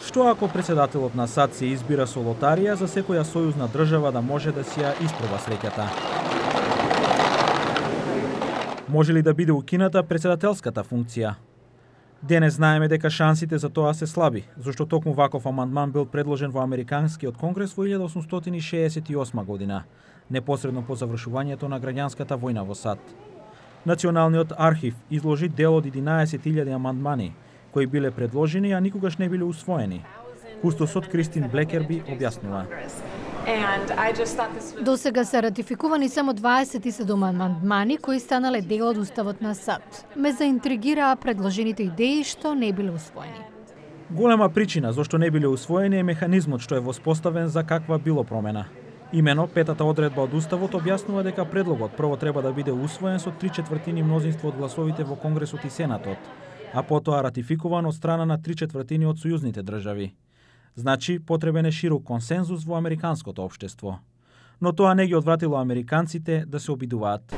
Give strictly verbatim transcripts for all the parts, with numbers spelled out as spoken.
Што ако председателот на САД се избира со лотарија за секоја сојузна држава да може да си ја испроба среќата? Може ли да биде укината председателската функција? Денес знаеме дека шансите за тоа се слаби, зашто токму ваков амандман бил предложен во Американскиот конгрес во илјада осумстотини шеесет и осма година, непосредно по завршувањето на граѓанската војна во САД. Националниот архив изложи дел од единаесет илјади амандмани, кои биле предложени, а никогаш не биле усвоени. Кустосот Кристин Блекерби објаснува. До сега се ратификувани само дваесет и седум амандмани кои станале дел од уставот на САД. Ме заинтригираа предложените идеи што не биле усвоени. Голема причина зашто не биле усвоени е механизмот што е воспоставен за каква било промена. Имено, петата одредба од уставот објаснува дека предлогот прво треба да биде усвоен со три четвртини мнозинство од гласовите во Конгресот и Сенатот, а потоа ратификуван од страна на три четвртини од сојузните држави. Значи, потребен е широк консензус во американското општество. Но тоа не ги одвратило американците да се обидуваат.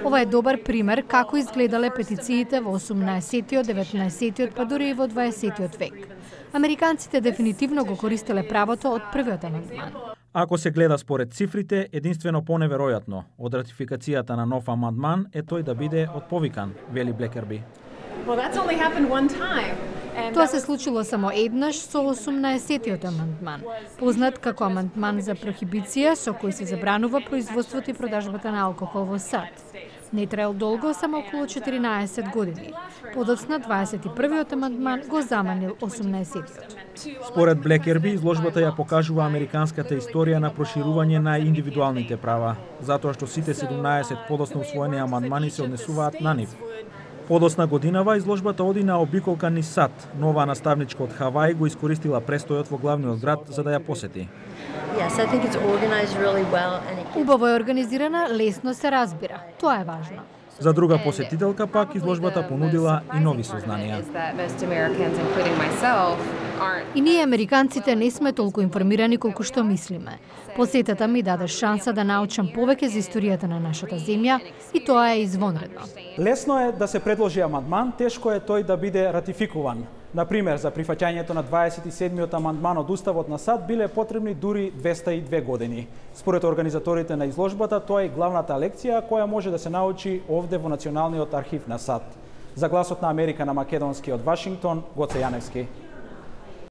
Ова е добар пример како изгледале петициите во осумнаесеттиот, деветнаесеттиот, па дури и во дваесеттиот век. Американците дефинитивно го користеле правото од првиот амандман. Ако се гледа според цифрите, единствено поневеројатно од ратификацијата на нов амандман е тој да биде отповикан, вели Блекерби. Тоа се случило само еднаш со осумнаесеттиот амандман, познат како амандман за прохибиција со кој се забранува производството и продажбата на алкохол во САД. Не траел долго, само околу четиринаесет години. Подоцна дваесет и првиот амандман го заманил осумнаесеттиот. Според Блекерби, изложбата ја покажува американската историја на проширување на индивидуалните права, затоа што сите седумнаесет подоцна усвоени амандмани се однесуваат на нив. Подосна годинава изложбата оди на обиколка низ САД. Нова наставничка од Хаваи го искористила престојот во главниот град за да ја посети. Убаво е организирана, лесно се разбира. Тоа е важно. За друга посетителка пак изложбата понудила и нови сознанија. И ние американците не сме толку информирани колку што мислиме. Посетата ми даде шанса да научам повеќе за историјата на нашата земја и тоа е извонредно. Лесно е да се предложи амандман, тешко е тој да биде ратификуван. Например, за прифаќањето на дваесет и седмиот амандман од уставот на САД биле потребни дури двеста и две години. Според организаторите на изложбата, тоа е главната лекција која може да се научи овде во Националниот архив на САД. За Гласот на Америка на македонски од Вашингтон, Гоце Јаневски.